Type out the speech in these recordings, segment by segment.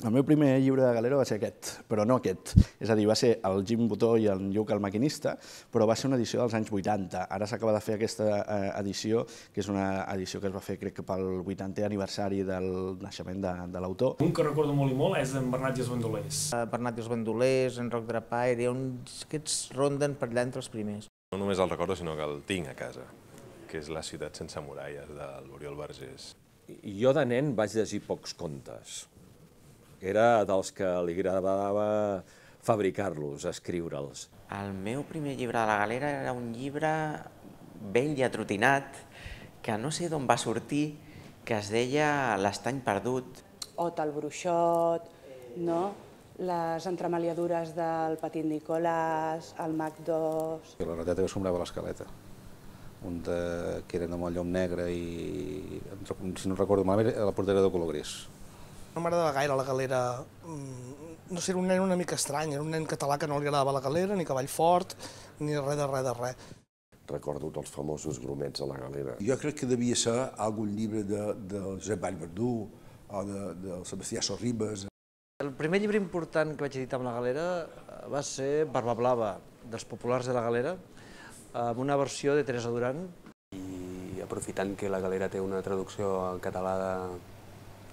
El meu primer llibre de galera va ser aquest, però no aquest. És a dir, va ser el Jim Butó i en Lluc el maquinista, però va ser una edició dels anys 80. Ara s'acaba de fer aquesta edició, que és una edició que es va fer, crec que pel 80è aniversari del naixement de l'autor. Un que recordo molt i molt és en Bernat i els Bandolers. Bernat i els Bandolers, en Roc Drapaire, aquests ronden per allà entre els primers. No només el recordo, sinó que el tinc a casa, que és La ciutat sense muralles, de l'Oriol Vergés. Jo de nen vaig llegir pocs contes. Era dels que li agradava fabricar-los, escriure'ls. El meu primer llibre de la galera era un llibre vell i atrotinat, que no sé d'on va sortir, que es deia L'estany perdut. Ot el bruixot, no? Les entremaliadures del Petit Nicolàs, el Mac 2... La rateta que sombrava l'escaleta, que eren amb el llom negre i, si no recordo malament, la portera de color gris. No m'agradava gaire la galera, no sé, era un nen una mica estrany, era un nen català que no li agradava la galera, ni cavall fort, ni res de res. Recordo els famosos grumets a la galera. Jo crec que devia ser algun llibre de Josep Vallverdú o de Sebastià Sorribes. El primer llibre important que vaig editar amb la galera va ser Barba Blava, dels populars de la galera, amb una versió de Teresa Duran. I aprofitant que la galera té una traducció en català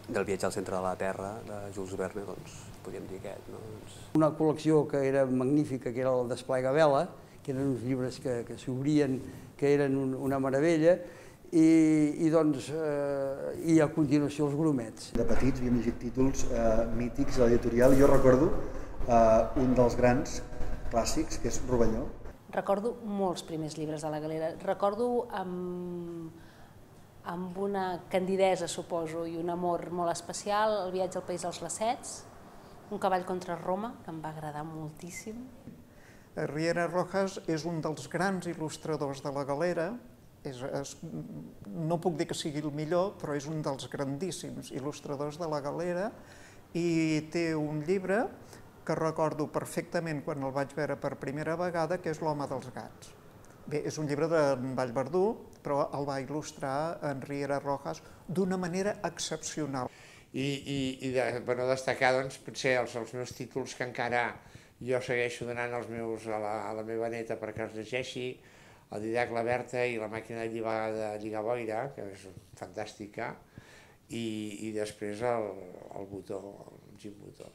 del viatge al centre de la Terra, de Jules Verne, doncs podríem dir aquest. Una col·lecció que era magnífica, que era el Desplegavela, que eren uns llibres que s'obrien, que eren una meravella, i a continuació els grumets. De petits havíem llegit títols mítics a l'editorial. Jo recordo un dels grans clàssics, que és Rovelló. Recordo molts primers llibres de la galera. Recordo amb una candidesa, suposo, i un amor molt especial, El viatge al país dels Lacets, Un cavall contra Roma, que em va agradar moltíssim. Riera Rojas és un dels grans il·lustradors de la galera. No puc dir que sigui el millor, però és un dels grandíssims il·lustradors de la galera i té un llibre que recordo perfectament quan el vaig veure per primera vegada, que és L'home dels gats. Bé, és un llibre d'en Vallverdú, però el va il·lustrar en Riera Rojas d'una manera excepcional. I destacar, doncs, potser els meus títols que encara jo segueixo donant a la meva neta perquè els llegeixi, el Didac la Berta i La màquina de lligar boira, que és fantàstica, i després el Butó, el Jim Butó.